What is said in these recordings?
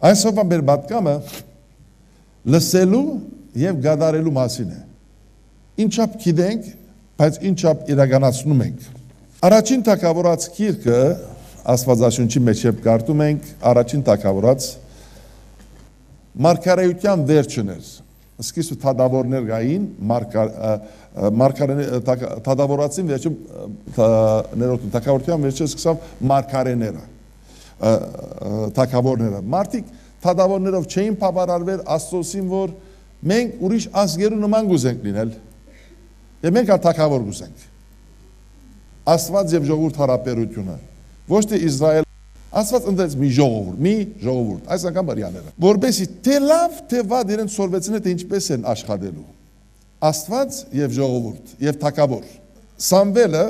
Այսօրվա մեր պատկամը լսելու եւ գադարելու մասին է։ Ինչապ գիտենք, բայց ինչապ իրականացնում ենք։ Առաջին թագավորաց գիրքը Աստվածաշունչի մեջ երբ կարդում ենք, առաջին թագավորաց մարգարեության վերջն էր։ Սկիզբը թագավորներ գային, թագավորացին վերջը ներորդում, թագավորության վերջը սկսավ մարգարեները, թագավորները։ Մարդիկ թագավորներով չէին բավարարվել, Աստծոսին, որ մենք ուրիշ ազգերու նման գուզենք լինել, եւ մենք թագավոր գուզենք։ Աստված եւ ժողովուրդ հարաբերությունը, ոչ թե Իսրայել, Աստված ընդդեց մի ժողովուրդ, այս անգամ բարյաները, որպեսզի թե լավ, թե վատ իրենց սորվեցին թե ինչպես են աշխատելու։ Աստված եւ ժողովուրդ եւ թագավոր։ Սամվելը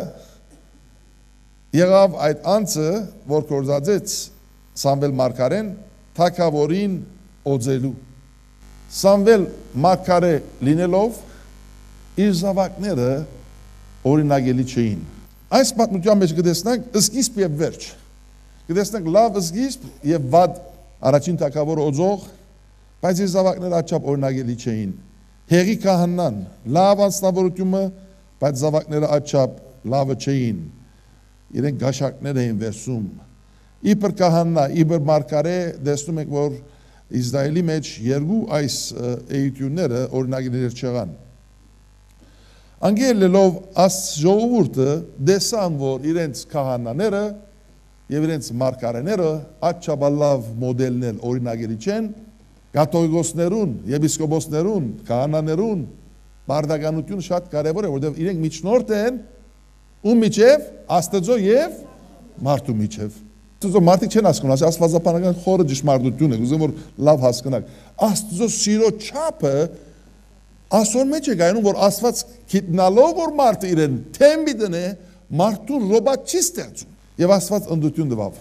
եղավ այդ անձը, որ կորզածեց Սամվել մարգարեն թագավորին օձելու։ Սամվել մարգարե լինելով իր զավակները օրինագելի չէին։ Այս պատմության մեջ կտեսնենք սկիզբ եւ վերջ։ Կտեսնենք լավ սկիզբ եւ վատ առաջին թագավորը օձող, բայց իր զավակները աչափ օրինագելի չէին։ Հեղի քահանան լավ անձնավորությունը, բայց զավակները աչափ լավը չէին։ Իրենք գաշակներ էին վերցում։ Իբր քահանա, իբր մարգարե, տեսնում ենք, որ Իսրայելի մեջ երկու այս էությունները օրինագիներ չեղան։ Անգելելով ժողովուրդը դեսան, որ իրենց քահանաները եւ իրենց մարգարեները աչաբալավ մոդելներ օրինագելի չեն, կաթողիկոսներուն, եպիսկոպոսներուն, քահանաներուն բարդականությունը շատ կարեւոր է, որովհետեւ իրենք միջնորդ են ում միջև Աստծո եւ մարդու միջև։ Աստծո մարդիկ չեն հասկանում, աստվածապանական խորը ճշմարտություն է, ուզում որ լավ հասկանաք։ Աստծո սիրո չափը ասոր մեջ է գայնում, որ Աստված գիտնալով, որ մարդը իրեն թեմբի դնե, մարդուն ռոբոտ չի ստեղծում։ Եվ Աստված ընդդություն տվավ,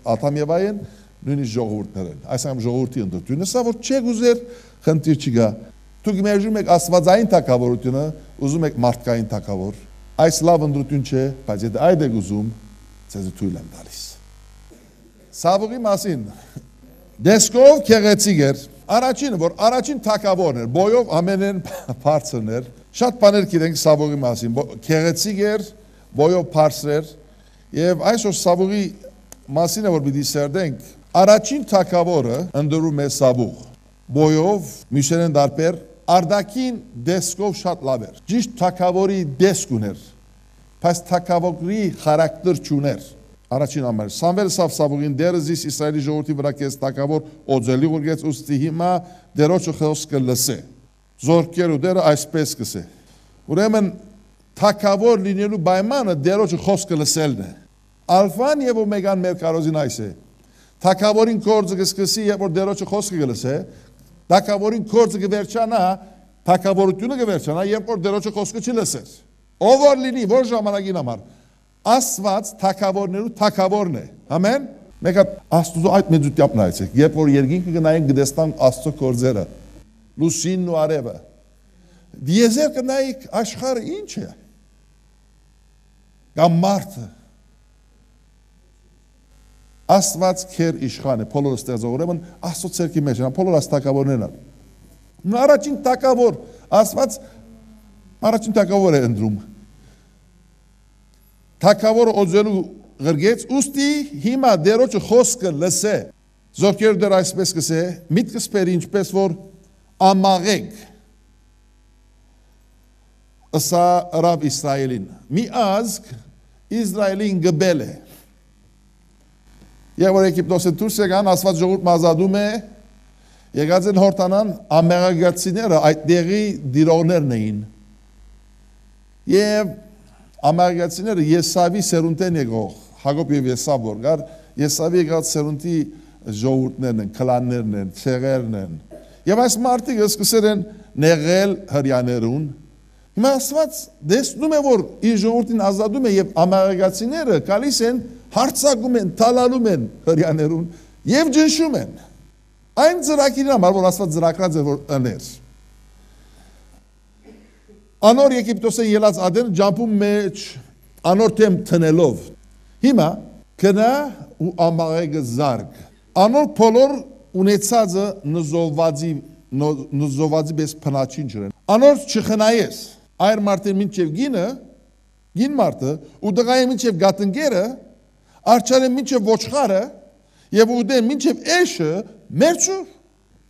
Ադամ եւ Ավային նույնիսկ ժողովուրդներն։ Այսինքն ժողովրդի ընդդությունը, սա որ չեք ուզեր, խնդիր չկա։ Դուք մերժում եք աստվածային թագավորությունը, ուզում եք մարդկային թագավոր։ Այս լավ ընդդություն չէ, բայց եթե այդ եք ուզում, ցեզ թույլ եմ տալիս։ Սավուղի մասին դեսկով քեղեցիկ էր, առաջինը, որ առաջին թագավորն էր, բոյով ամենեն բարձրն էր, շատ բաներ գիտենք Սավուղի մասին, քեղեցիկ էր, բոյով բարձր էր, եւ այսօր Սավուղի մասին է, որ պիտի սերդենք, առաջին թագավորը ընդրում է Սավուղ, բոյով, միշերեն դարբեր, արդակին դեսկով շատ լավ էր, ճիշտ թագավորի դեսկ ուներ, բայց թագավորի խարակտեր չուներ, առաջին ամեր, Սամվել սավ Սավուղին դերը զիս Իսրայելի ժողովրդի վրա կես թագավոր օձելի ուրգեց ուստի հիմա դերոջը խոսքը լսե, զորքերու դերը այսպես կսե, ուրեմն թագավոր լինելու պայմանը դերոջը խոսքը լսելն է, ալֆան եւ օմեգան մեր կարոզին այս է, թագավորին կորձը կսկսի եւ որ դերոջը խոսքը կլսե, թագավորին կորձը կվերջանա, թագավորությունը կվերջանա եւ որ դերոջը խոսքը չլսեր, ով որ լինի, որ ժամանակին համար, Աստված թագավորներու թագավորն է, ամեն, մեկ Աստուծո այդ մեծությամբ նայեցեք, երբ որ երկինքը կնայեն կտեսնան Աստծո կորձերը, լուսինն ու արևը, դիեզեր կնայեք աշխարհը ինչ է, կամ մարդը, Աստված քեր իշխան է, բոլորը ստեղծող, ուրեմն Աստծո ցերկի մեջ են, բոլորը աստակավորներն են, առաջին թագավոր, Աստված առաջին թագավոր է ընդրում, թագավորը օձելու գրգեց, ուստի հիմա դերոջը խոսքը լսե, զորքերը դեր այսպես կսե, միտքս պեր ինչպես որ ամաղեք, ըսա ռավ Իսրայելին, մի ազգ Իսրայելին գբել է, եւ որ Եգիպտոսը դուրս եկան, Աստված ժողովուրդ ազատում է, եկած են հորտանան ամերիկացիները այդ դեղի դիրողներն էին, եւ ամերիկացիները Եսավի սերունդեն եկող, Հակոբ եւ Եսավ որ գար, Եսավի եկած սերունդի ժողովուրդներն են, քլաններն են, ցեղերն են։ Եվ այս մարդիկ սկսել են նեղել հрьяաներուն։ Հիմա Աստված դեսնում է, որ իր ժողովրդին ազատում է եւ ամերիկացիները գալիս են, հարցակում են, թալալում են հрьяաներուն եւ ջնշում են։ Այն ծրագիրն համար, որ Աստված ծրագրած է որ ըներ։ Անոր Եգիպտոսեն ելած ադեն ջամփում մեջ անոր թեմ տնելով։ Հիմա կնա ու ամաղեգը զարգ։ Անոր բոլոր ունեցածը նզովվածի պես փնաչին ջրեն։ Անոր չխնայես, այր մարդեն մինչև գին մարդը, ու դղայը մինչև գատնգերը, արջարեն մինչև ոչխարը, և ուդեն մինչև էշը մերչուր։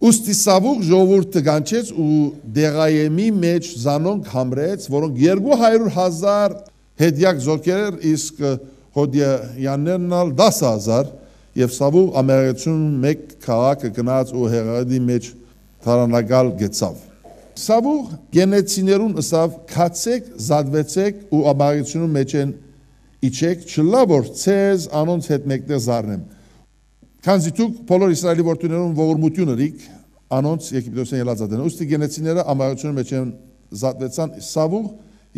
Ուստի սավուղ ժողովուրդը գանչեց ու դեղայեմի մեջ զանոնք համրեց, որոնք 200,000 հետյակ զոքեր, իսկ հոդյաններն ալ 10,000, և սավուղ ամերացուն մեկ քաղաքը գնաց ու հեղադի մեջ թարանագալ գեցավ։ Սավուղ գենեցիներուն ըսավ քացեք, զադվեցեք ու ամերացունու մեջ են իչեք, չլա որ ցեզ անոնց հետ մեկտեղ զարնեմ։ Քանզի դուք բոլոր Իսրայելի որդիներուն ողորմություն ըրիք, անոնց Եգիպտոսեն ելածածն։ Ուստի գենեցիները ամերացունու մեջ են զադվեցան Սավուղ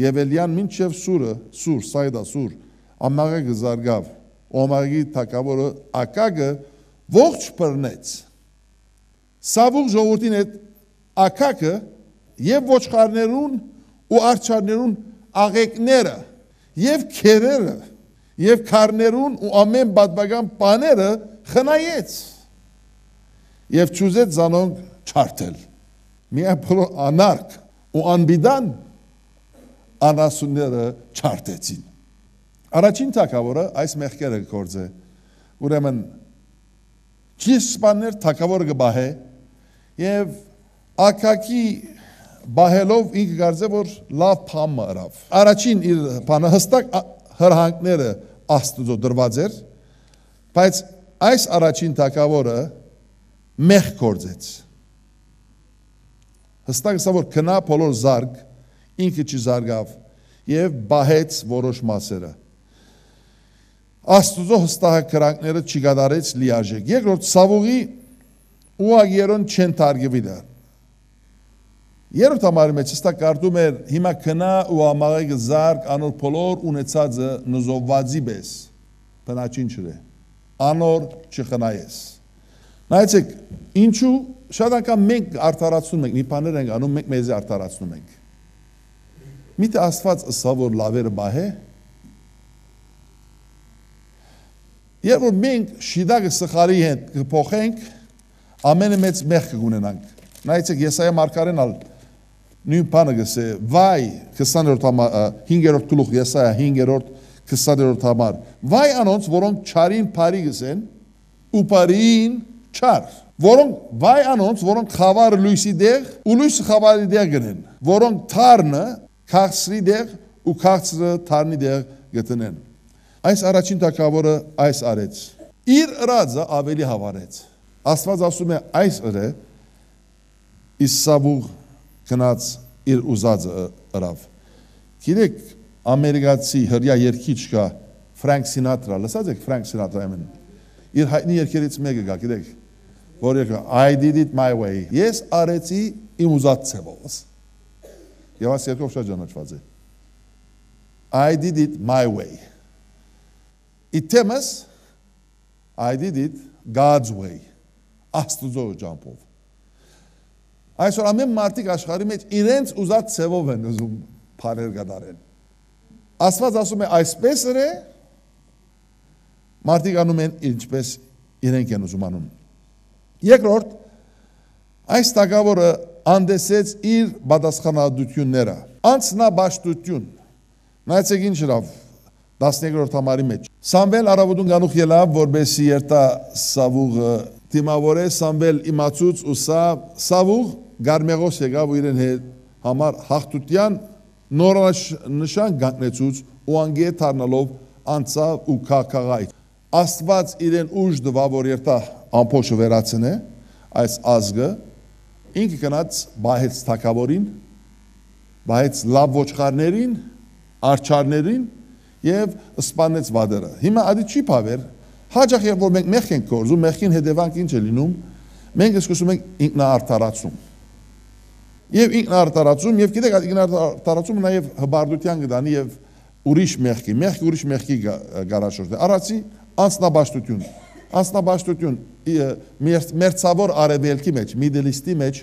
եւ Էլիան մինչև սուր, սայդա սուր, ամաղը զարգավ, օմարգի թակավորը ակագը ողջ բռնեց։ Սավուղ ժողովրդին հետ ակակը եւ ոչխարներուն ու արջարներուն աղեկները եւ քերերը եւ քարներուն ու ամեն բադբական բաները խնայեց եւ ճուզեց զանոնք չարթել։ Միայն բոլոր անարք ու անբիդան անասունները չարթեցին։ Առաջին թագավորը այս մեղքերը կորձե, ուրեմն ճիսպաներ թագավորը կբահե եւ ակակի բահելով ինքը կարծե որ լավ փամը ըրավ։ Առաջին իր բանը հստակ հրահանգները Աստծո դրված էր, բայց այս առաջին թագավորը մեղք կորձեց։ Հստակ ասա որ քնա բոլոր զարգ ինքը չզարգավ եւ բահեց որոշ մասերը։ Աստուծո հստակ կրանքները չգադարեց լիարժեք։ Երկրորդ Սավուղի ուագերոն չեն թարգվի դա։ Երրորդ համարի մեջ հստակ կարդում էր հիմա քնա ու ամաղը զարգ անոր բոլոր ունեցածը նզովվածի պես բնաչին չրե։ Անոր չխնայես։ Նայեցեք, ինչու շատ անգամ մենք արդարացնում ենք, մի բաներ ենք անում, մենք մեզ արդարացնում ենք։ Միթե Աստված ըսա որ լավերը բահե։ Երբ որ մենք շիդագը սխալի հետ կփոխենք, ամենը մեծ մեղք կունենանք։ Նայեցեք Եսայա մարգարեն ալ նույն բանը գսե վայ 5-րդ գլուխ Եսայա 5-րդ 20-րդ համար վայ անոնց որոնք չարին բարի գսեն ու բարին չար որոնք վայ անոնց որոնք խավարը լույսի դեղ ու լույսը խավարի դեղ գնեն որոնք թարնը քաղցրի դեղ ու քաղցրը թարնի դեղ գտնեն այս առաջին թագավորը այս արեց իր ըրածը ավելի հավարեց Աստված ասում է այս ըրը իսկ Սավուղ գնաց իր ուզածը ըրավ գիտեք ամերիկացի հրյա երգիչ կա Ֆրանկ Սինատրա լսած եք Ֆրանկ Սինատրա ամեն իր հայտնի երգերից մեկը կա գիտեք որ երգը I did it my way ես արեցի իմ ուզած ցևով եւ այս երգով շատ ճանաչված է I did it my way Իտեմս I did it God's way Աստուծո ջամփով Այսօր ամեն մարդիկ աշխարհի մեջ իրենց ուզած ցևով են ուզում բաներ գդարեն Աստված ասում է այսպես է մարդիկ անում են ինչպես իրենք են ուզում անում Երկրորդ այս թագավորը անդեսեց իր պատասխանատվությունները անձնաբաշխություն նայեցեք ինչ լավ 12-րդ համարի մեջ Սամվել արավոտուն գանուխ ելավ որբեսի երտա Սավուղը դիմավորե Սամվել իմացուց ու Սավուղ Գարմեղոս եկավ ու իրեն հետ համար հաղթության նորանշան գանքնեցուց ու անգե թարնալով անցավ ու քաղաքայ Աստված իրեն ուժ դվա որ երտա ամփոփը վերացնե այս ազգը ինքը գնաց բահեց թակավորին բահեց լավ ոչխարներին արջարներին եւ սպանեց վադերը հիմա ադի չի բավեր հաջող երբ որ մենք մեղք ենք կորզում մեղքին հետևանք ինչ է լինում մենք սկսում ենք ինքնաարդարացում եւ ինքնաարդարացում եւ գիտեք ինքնաարդարացումը նաեւ հբարդության գտանի եւ ուրիշ մեղքի գարաշորդ առացի անձնաբաշխություն մերձավոր արևելքի մեջ Middle East-ի մեջ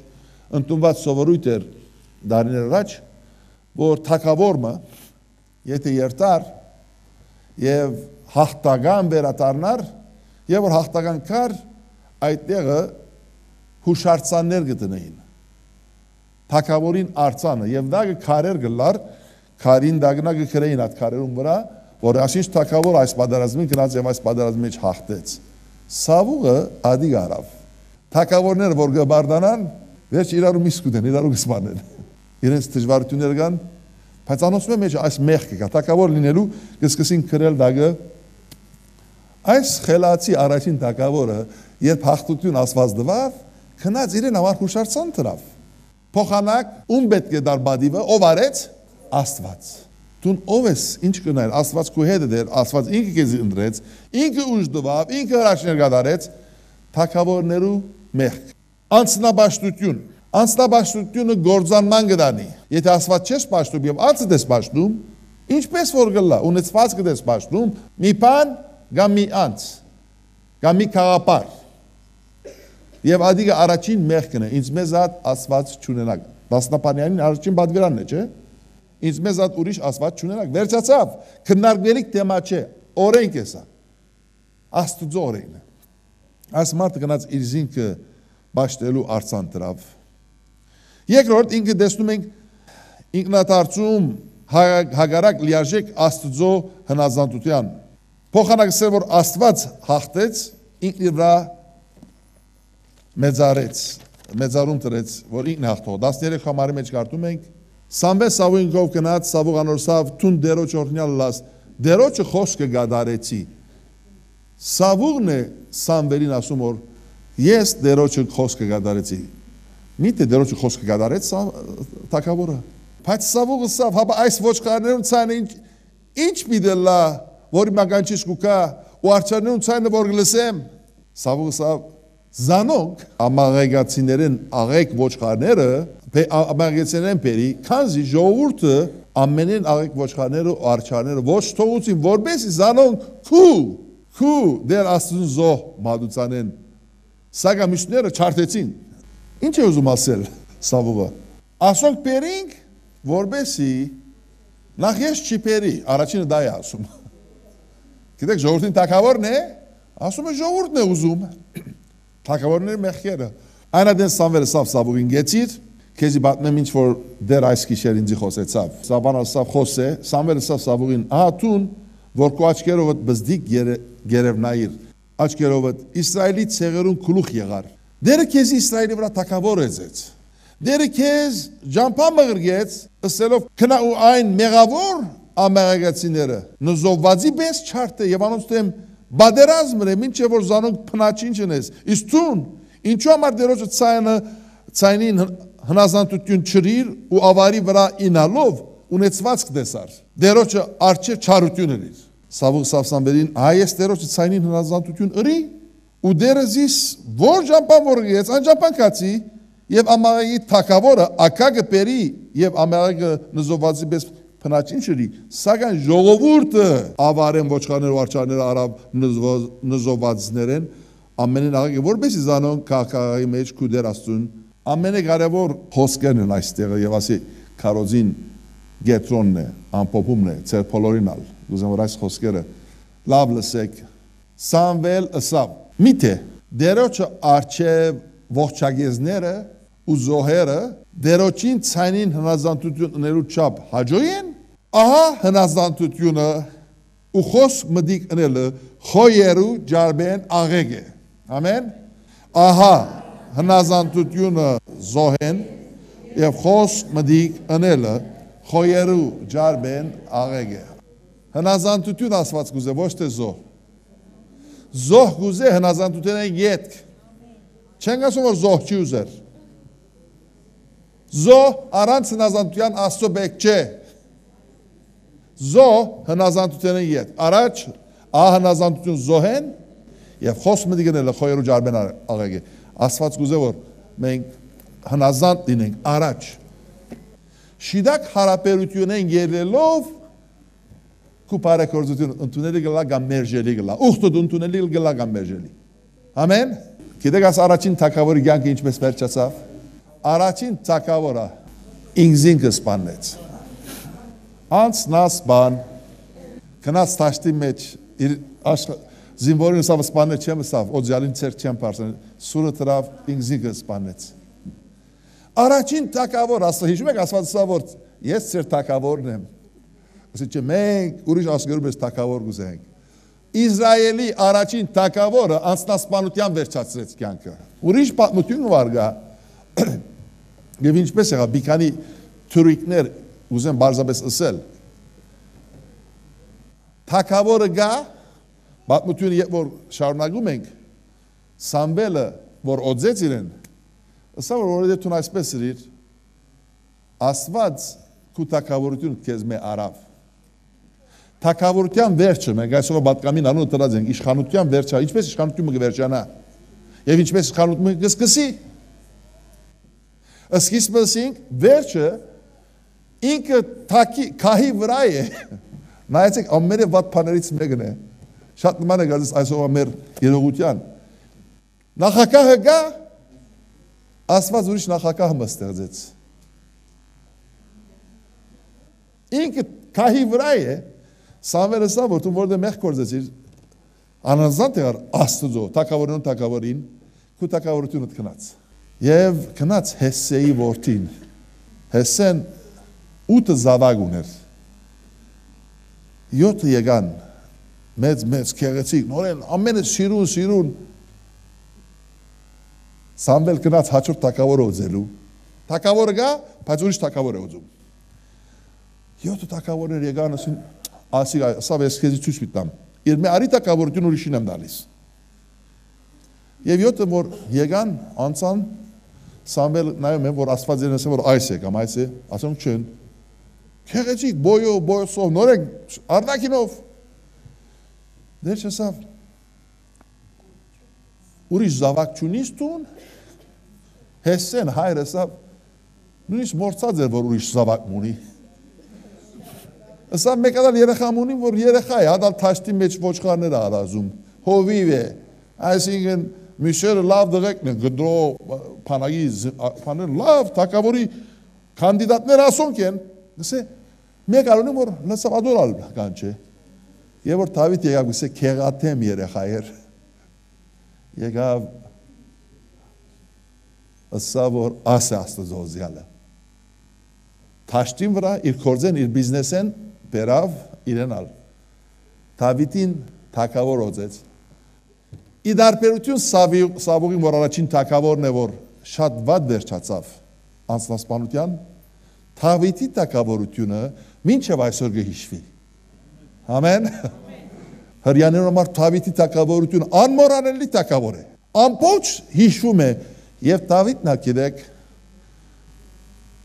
ընդունված սովորույթ էր դարիներ առաջ որ թակավորը եթե երթար եւ հաղթական վերադառնար եւ որ հաղթական կար այդ տեղը հուշարձաններ գտնեին։ Թագավորին արձանը եւ դա քարեր գլար, քարին դագնա գրեին այդ քարերուն վրա, որ ասինչ թագավոր այս պատերազմին գնաց եւ այս պատերազմի մեջ հաղթեց։ Սավուղը ադի գարավ։ Թագավորները որ գբարդանան, վերջ իրարու միսկուտեն, իրարու գսմանեն։ Իրենց դժվարություններ կան, բայց անոնցում մեջ այս մեղքը կա, թագավոր լինելու կսկսին քրել դագը։ Այս խելացի առաջին թագավորը, երբ հաղթություն ասված դվավ, քնած իրեն համար հուշարձան դրավ։ Փոխանակ ում պետք է դար բադիվը, ով արեց Աստված։ Դուն ով ես, ինչ կնայր, Աստված քո հետ էր, Աստված ինքը քեզ ընտրեց, ինքը ուժ դվավ, ինքը հրաշքներ կատարեց, թագավորներու մեղք։ Անձնաբաշխություն։ Անձնաբաշխությունը գործանման կդանի։ Եթե Աստված չես պաշտում եւ անձդ ես պաշտում, ինչպես որ գլա, ունեցված կդես պաշտում, մի բան կամ մի անձ, կամ մի քաղաքապար։ Եվ ադիգը առաջին մեղքն է, ինձ մեզ ատ Աստված չունենակ։ Դասնապանյանին առաջին բադվերանն է, չէ՞։ Ինձ մեզ ատ ուրիշ Աստված չունենակ։ Վերջացավ, քննարկվելիք թեմա չէ, օրենք է սա։ Աստուծո օրենքն է։ Այս մարդը գնաց իր զինքը բաշխելու արցան դրավ։ Երկրորդ ինքը տեսնում ենք ինքնաթարցում հագարակ լիարժեք Աստուծո հնազանդության։ Փոխանակսել որ Աստված հաղթեց, ինքն իր վրա մեծարում տրեց, որ ինքն հաղթող։ 13 համարի մեջ կարդում ենք, Սամվել Սավուին գով գնաց, Սավուղ անորսավ, թուն դերոջ օրհնյալ լաս, դերոջը խոսքը գադարեցի։ Սավուղն է Սամվելին ասում, որ ես դերոջը խոսքը գադարեցի։ Միթե դերոջը խոսքը գադարեց թագավորը։ Բայց Սավուղը սավ, հապա այս ոչխարներում ցայնը ինչ պիտելա, որ մագանչիս կուկա, ու արջարներում ցայնը որ գլսեմ։ Սավուղը սավ Զանոնք ամաղեգացիներեն աղեկ ոչխարները ամաղեգացիներեն պերի, քանզի ժողովուրդը ամենեն աղեկ ոչխարները ու արջարները ոչ թողուցին, որբեսի զանոնք քու դեր աստուն զոհ մադուցանեն, սագա միշները չարթեցին, ինչ է ուզում ասել Սավուղը, ասոնք պերինք, որբեսի նախ ես չի պերի, առաջինը դա է ասում, գիտեք ժողովուրդին թագավորն է, ասում է ժողովուրդն է ուզում, թագավորների մեղքերը։ Այնադեն Սամվելը սավ Սավուղին գեցիր, քեզի պատմեմ ինչ որ դեր այս գիշեր ինձի խոսեցավ։ Սաբանը սավ խոսե, Սամվելը սավ Սավուղին, ահա տուն, որ քո աչքերովդ բզդիկ գերևնայիր, աչքերովդ Իսրայելի ցեղերուն գլուխ եղար։ Դերը քեզի Իսրայելի վրա թագավոր էզեց։ Դերը քեզ ջամփա մղրգեց, ըսելով քնա ու այն մեղավոր ամերիկացիները, նզովվածի բես չարթե եւ անոնց դեմ բادرազմը մինչև որ զանոնք փնաչին չնես իսկ ցուն ինչու համար դերոջը ցայնին հնազանդություն չրիր ու ավարի վրա ինալով ունեցվածք դեսար դերոջը արչեր չարություն էր Սավուղ Սավսամբերին հայես դերոջը ցայնին հնազանդություն ըրի ու դերզիս որ ջամփան որգեց անջամփան կացի եւ ամաղի թակավորը ակագը պերի եւ ամաղը նզովվածի բես Փնաչին շրի, սակայն ժողովուրդը ավարեն ոչխարներ ու արջարներ արավ նզովվածներեն, ամենեն աղագը որբեսի զանոն կաղկաղայի մեջ կուդեր աստուն, ամենե կարևոր խոսքերն են այստեղը և ասի կարոզին գետրոնն է, ամպոպումն է, ծեր պոլորինալ, գուզեմ որ այս խոսքերը, լավ լսեք, Սամվել ըսավ, միթե, դերոչը արջև ողջագեզները ու զոհերը դերոջին ցայնին հնազանդություններու չափ հաջոյեն, ահա հնազանդությունը ու խոսք մդիկ ընելը խոյերու ջարբեն աղեգ է, ամեն, ահա հնազանդությունը զոհեն և խոսք մդիկ ընելը խոյերու ջարբեն աղեգ է, հնազանդություն ասված գուզե, ոչ թե զոհ, զոհ գուզե հնազանդություն է ետք, չենք ասում որ զոհ չի ուզեր, Զոհ առանց հնազանդության աստծո բեք չէ, զոհ հնազանդության են ետ, առաջ հնազանդություն զոհեն և խոսք մդիգն էլ խոյերու ջարբեն աղեգ է, ասված գուզե որ մենք հնազանդ լինենք առաջ, շիդակ հարապերություն են երելով կու պարեկորձություն ընդունելի գլա գամ մերժելի գլա, ուղտուդ ընդունելի գլա գամ մերժելի, ամեն, գիտեք աս առաջին թագավորի գյանքը ինչպես վերջացավ, Առաջին թագավորը ինքզինքը սպանեց, անց նա սպան, կնաց թաշտի մեջ, զինվորին սավ սպանել չեմ սավ, օձյալին ծեր չեմ պարսեն, սուրը տրավ ինքզիկը սպանեց։ Առաջին թակավոր, հիշում եք ասված սա, որ ես ծեր թակավորն եմ։ Ասի չէ, մենք ուրիշ ասգերում ես թակավոր գուզենք։ Իսրայելի առաջին թակավորը անձնասպանության վերջացրեց կյանքը։ Ուրիշ պատմություն վար գա։ Եվ ինչպես եղավ, մի քանի թուրիկներ ուզեմ բարձրապես ասել։ Թակավորը գա, պատմությունը երբ որ շարունակում ենք, Սամվելը, որ օձեց իրեն, ասա որ որովհետև դու այսպես իրիր, Աստված քու թակավորությունը քեզ մե արավ։ Թակավորության վերջը, մենք այսօր պատկամին անունը տրած ենք, իշխանության վերջը, ինչպես իշխանությունը կվերջանա, եւ ինչպես իշխանությունը կսկսի։ Սկիզբնենք վերջը ինքը քահի վրա է։ Նայեցեք, ամենը վատ բաներից մեկն է։ Շատ նման է գալիս այսօր մեր երողության։ Նախագահը գա, Աստված ուրիշ նախագահ մստեղծեց։ Ինքը քահի վրա է, Սամվելը սա որ դու որտեղ մեղ կործեցիր, անանձանդ եղար Աստծո, թակավորին թակավորին, քու թակավորությունը քնած։ Եվ քնած Հեսեի որդին։ Հեսեն 8 զավակ ուներ։ 7 եկան մեծ քեղեցիկ, նորեն ամենը սիրուն։ Սամվել քնած հաջորդ թակավորը ուզելու։ Թակավորը գա, բայց ուրիշ թակավոր է ուզում։ 7 թակավորներ եկան ասի սա վեսքեզի ցույց միտամ։ Իր մի արի թակավորություն ուրիշին եմ դալիս։ Եվ 7-ը որ եկան անցան Սամվել նայում է որ Աստված իրեն ասում որ այս է կամ այս է, ասում չեն։ Քեղեցիկ բոյոսով նորեն արնակինով։ Դեր չասավ։ Ուրիշ զավակ չունիս տուն։ Հեսեն հայրը ասավ նույնիսկ մորցած էր որ ուրիշ զավակ ունի։ Ասա մեկ ադալ երեխա ունի որ երեխա է, ադալ թաշտի մեջ ոչխարներ արազում։ Հովիվ է։ Այսինքն Միշերը լավ դղեկն է, գդրո պանագի լավ, թակավորի կանդիդատներ ասոնք են, գսե, մեկ արունի, որ լսավ ադորալ կան չէ, և որ թավիտ եկավ, գսե, կեղատեմ երեխա էր, եկավ, ասա, որ աս է աստծո զյալը, թաշտին վրա, իր կորձեն, իր բիզնեսեն, բերավ իրենալ, թավիտին թակավոր օձեց, Իդարպերություն Սավուղին, որ առաջին թակավորն է, որ շատ վատ վերջացավ անձնասպանության, Թավիթի թակավորությունը մինչև այսօր կհիշվի։ Ամեն։ Հրյաներում համար Թավիթի թակավորությունը անմոռանալի թակավոր է։ Ամբողջ հիշվում է, եւ Դավիթն ակիրեք,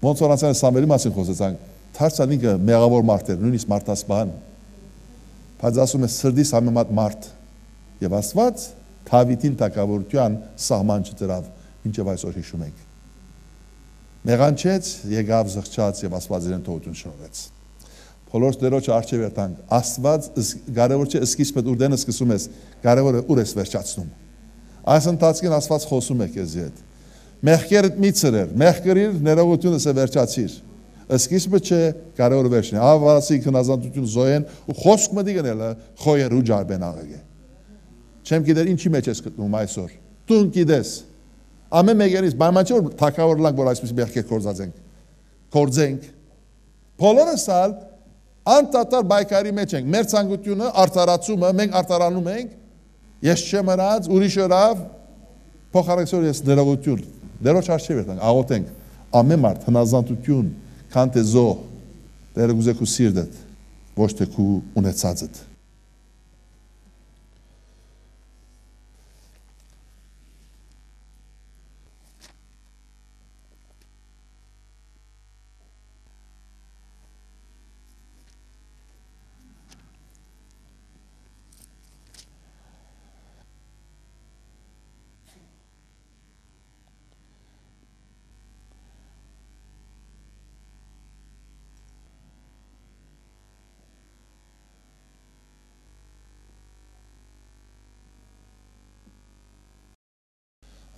ոնց որ ասել Սամվելի մասին խոսեցանք, Թարցան ինքը մեղավոր մարդ էր, նույնիսկ մարդասպան, բայց ասում է սրդիս համեմատ մարդ, եւ Աստված Թավիթին թակավորության սահման չդրավ, մինչև այսօր հիշում ենք։ Մեղանչեց, եկավ զղջաց եւ Աստված իրեն թողություն շնորհեց։ Բոլոր դերոջ արժե վերտանք, Աստված կարևոր չէ սկիզբը ուր սկսում ես, կարևորը ուր ես վերջացնում։ Այս ընթացքին Աստված խոսում է քեզ հետ։ Մեղքերդ մի ծրեր, մեղքերիր ներողությունս է վերջացիր։ Սկիզբը չէ, կարևորը վերջն է։ Ավարասի քնազանդություն զոյեն ու խոսք մտի գնելը խոյեր ու ջարբեն աղեգե։ Չեմ գիտեր ինչի մեջ ես գտնում այսօր։ Դու գիտես։ Ամեն մեկերից բանաչ որ թակավոր լանք որ այսպես մեղքեր կործենք։ Բոլորս ալ անտատար բայկարի մեջ ենք։ Մեր ցանկությունը արտարացումը մենք արտարանում ենք։ Ես չեմ հրած ուրիշ հրավ փոխարենցոր ես ներողություն։ Դերոջ արժե վերտանք, աղոթենք։ Ամեն մարդ հնազանդություն, քան թե զո դերը գուզե քու սիրտդ, ոչ թե քու ունեցածդ։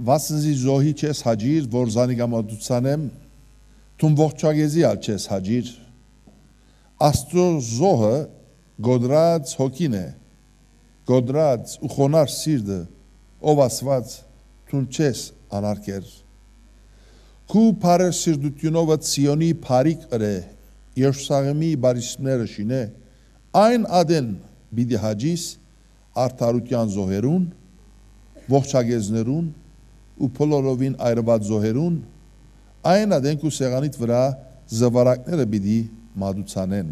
Վասնզի զոհի չես հաջիր, որ զանիգամատուցանեմ, թուն ողջագեզի ալ չես հաջիր, Աստծո զոհը գոդրած հոգին է, գոդրած ու խոնար սիրտը, ով Աստված Թուն չես անարկեր Քու բարեր սիրտությունովը Ցիոնի բարիք ըրե Երուսաղեմի բարիսմները շինե Այն ադեն բիդի հաջիս արդարության զոհերուն ողջագեզներուն ու փոլորովին այրված զոհերուն Այն ադեն քու սեղանիդ վրա զվարակները բիդի մադուցանեն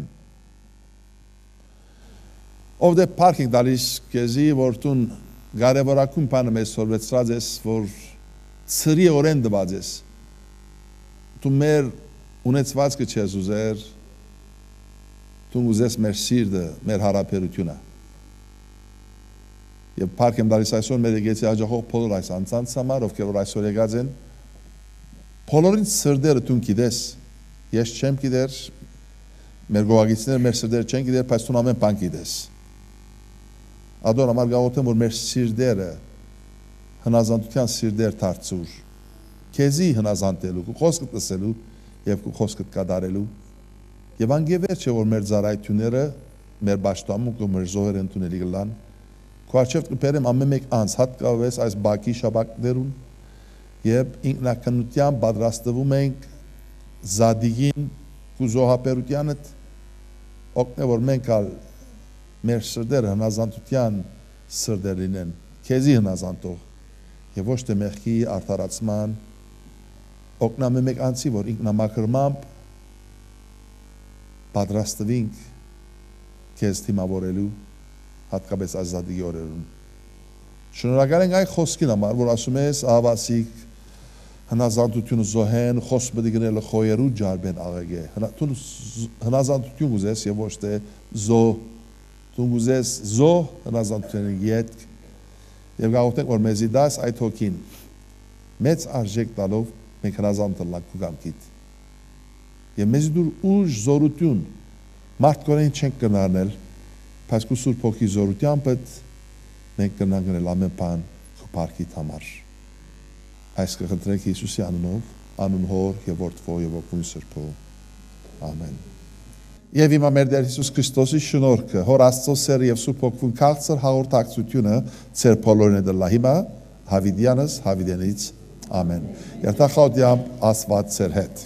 Of the parking դալիս քեզի որ տուն Կարևորակում բանը մեզ սորվեցրած ես, որ ծրի օրեն դված ես, դու մեր ունեցվածքը չես ուզեր, դու ուզես մեր սիրտը, մեր հարաբերությունը։ Եվ փառք եմ տալիս այսօր մեր եկեցի աջակող բոլոր այս անձանց համար, ովքեր որ այսօր եկած են, բոլորին սրտերը դու գիտես, ես չեմ գիտեր, մեր գողագիցները մեր սրտերը չեն գիտեր, բայց դու ամեն բան գիտես։ Ադոր համար գաղութեմ, որ մեր սիրտերը հնազանդության սիրտեր դարձուր, քեզի հնազանդելու, քո խոսքդ լսելու եւ քո խոսքդ կատարելու։ Եվ անգևեր չէ որ մեր ծառայությունները, մեր պաշտամունքը, մեր զոհերը ընդունելի կլան։ Քո արչեւ կբերեմ ամեն մեկ անց հատկապես այս բակի շաբակներուն եւ ինքնակնության պատրաստվում ենք զադիգին ու զոհապերությանը օգնե որ մենք մեր սրտերը հնազանդության սրտեր լինեն, քեզի հնազանդող եւ ոչ թե մեղքի արդարացման օգնամ մեկ անցի որ ինքնամաքրմամբ պատրաստվենք քեզ թիմավորելու հատկապես ազատի օրերուն շնորհակալ ենք այն խոսքին համար որ ասում ես ահավասիկ հնազանդությունը զոհեն խոսք պետք է գնել խոյերու ջարբեն աղեգե հնազանդություն ուզես եւ ոչ թե զոհ Դու ուզես զոհ հնազանդության ետք եւ գաղութենք որ մեզի դաս այդ հոգին մեծ արժեք տալով մենք հնազանդ լանք ու գամքիդ եւ մեզի դուր ուժ զորություն մարդկորեն չենք կնարնել բայց քու սուրբ հոգի զորությամբ մենք կնանք գնել ամեն բան քո փառքիդ համար այս կխնդրենք Հիսուսի անունով անուն հոր եւ որդվո եւ ոգուն սրբո ամեն Եվ հիմա մեր Տեր Հիսուս Քրիստոսի շնորհքը, Հոր Աստծո սերը եւ Սուրբ Հոգու քաղցր հաղորդակցությունը ծեր բոլորին է դլա հիմա հավիդյանս հավիդենից ամեն։ Երթախոդյամ Աստված ծեր հետ։